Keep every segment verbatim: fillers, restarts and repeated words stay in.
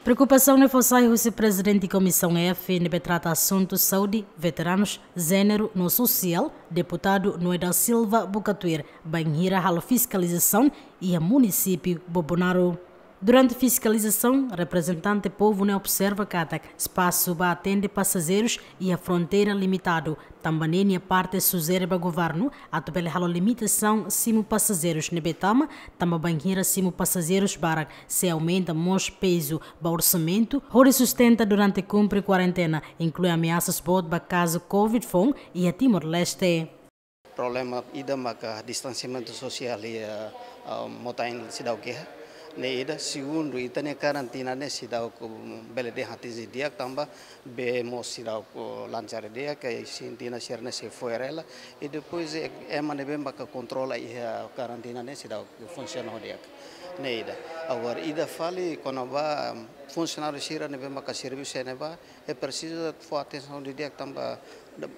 Preokupasaun ne'e fó sai husi Prezidente Komisaun F ne'ebé trata asuntu saúde, veteranus, jéneru no sosiál, Deputadu Noé da Silva buka tuir, bainhira halo fiskalizasaun iha munisípiu Bobonaro. Durante fiskalizasaun, reprezentante povu ne'e observa katak espasu ba atende pasajeirus iha fronteira limitadu, tanba ne'e nia parte sujere ba governu atu bele halo limitasaun simu pasajeirus ne'ebé tama, tanba bainhira simu pasajeirus barak sei aumenta mós pezu ba orsamentu hodi sustenta durante kumpre kuarentena, inklui ameasas boot ba kazu covid foun iha Timor-Leste. Problema ida maka distansiamentu sosiál iha, ah, Mota-Ain seidauk iha. Ne'e ida, segundu, ita-nia karantina ne'e seidauk bele dehan atinje di'ak tanba bee mós seidauk lancar di'ak, ka sentina sira ne'e sei fo'er hela, i depois, eh, ema ne'ebé maka kontrola iha karantina ne'e seidauk funsiona ho di'ak. Ne'e ida. Agora, ida fali kona-ba funsionáriu sira ne'ebé maka servisu iha ne'ebá, eh, presiza fó atensaun didi'ak tanba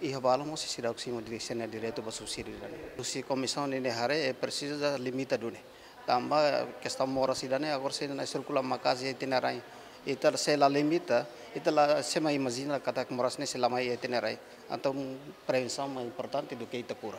iha balun mós seidauk simu didi'ak sira-nia direitu ba subsídiu ida-ne'e. Husi komisaun ne'e haree, eh, presiza limita duni. Tanba kestaun moras ida-ne'e agora sei sirkula maka'as iha ita-nia rain. Ita se la limita, ita la, se mai imajina katak moras ne'e sei la mai iha ita-nia rain. Entaun prevensaun mais importante do que ita kura.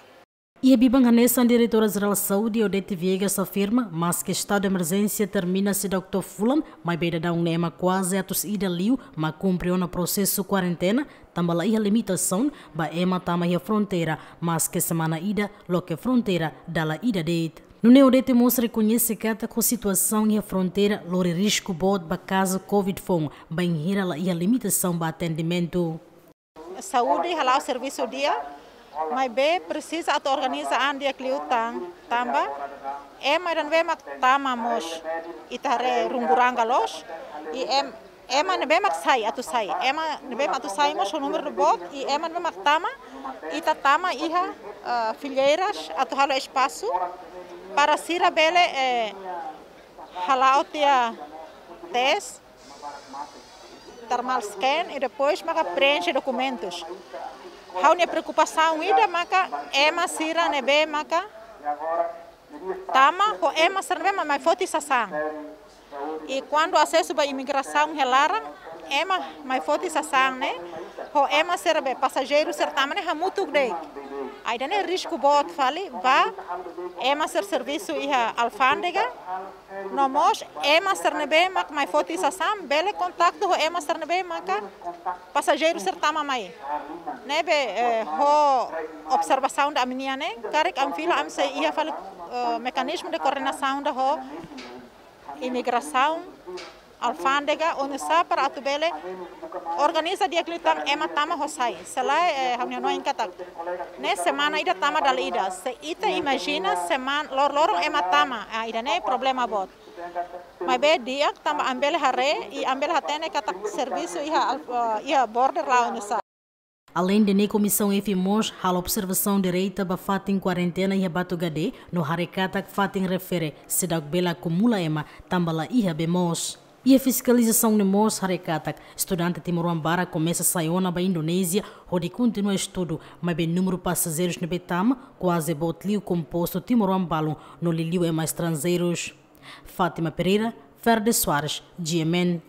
Iha biban hanesan, Diretora Jerál Saúde, Odete Viegas, afirma, maske estadu de emerjénsia termina seidauk to'o fulan, maibé daudaun ne'e ema kuaze atus ida liu mak kumpre ona prosesu kuarentena, tanba la iha limitasaun ba ema tama iha fronteira, maske semana ida loke fronteira dala ida de'it. Nune'e Odete mós rekoñese katak situasaun iha fronteira lori risku boot ba kazu covid foun, bainhira la iha limitasaun ba atendimentu. Saúde hala'o servisu di'ak, maibé presiza atu organiza an di'ak liután, tanba ema ida ne'ebé mak tama mós ita haree runguranga loos, i em-, ema ne'ebé mak sai, atu sai. Ema ne'ebé mak atu sai mós ho númeru boot, i ema ne'ebé mak tama, ita tama iha, eh, fileiras atu halo espasu, para sira bele, eh, hala'o tiha tes, thermal scan, i depois maka preenxe dokumentus. Ha'u-nia preokupasaun ida maka ema sira ne'ebé maka tama ho ema sira ne'ebé mak mai foti sasán. I kuandu asesu ba imigrasaun iha laran, ema mai foti sasán ne'e ho ema sira be pasajeiru sira tama ne'e hamutuk de'it. Ida-ne'e risku boot fali ba ema sira servisu iha alfándega, no mós ema sira ne'ebé mak mai foti sasán bele kontaktu ho ema sira ne'ebé maka pasajeiru sira tama mai. Ne'ebé, eh, ho observasaun ida ami-nian ne'e, karik ami fila, ami sei iha fali, eh, mekanizmu de koordenasaun ida ho imigrasaun, alfándega, oinsá para atu bele organiza di'ak liután ema tama ho sai. Se lae, eh, ha'u-nia hanoin katak ne'e semana ida tama dala ida. Se ita imajina semana lor-loron ema tama, ah, ida-ne'e problema boot. Maibé di'ak tanba ami bele haree, i ami bele hatene katak servisu iha al-, eh, iha border la'o oinsá. Aleinde ne'e, Komisaun F mós halo observasaun direta ba fatin kuarentena iha Batugade, no haree katak fatin refere seidauk bele akumula ema, tanba la iha bee moos. Iha fiskalizasaun ne'e mós haree katak estudante timoroan barak komesa sai ona ba Indonézia hodi kontinua estudu, maibé númeru pasajeirus ne'ebé tama kuaze boot liu, kompostu timoroan balun no liuliu ema estranjeirus. Fátima Pereira, Ferde Soares, G M N.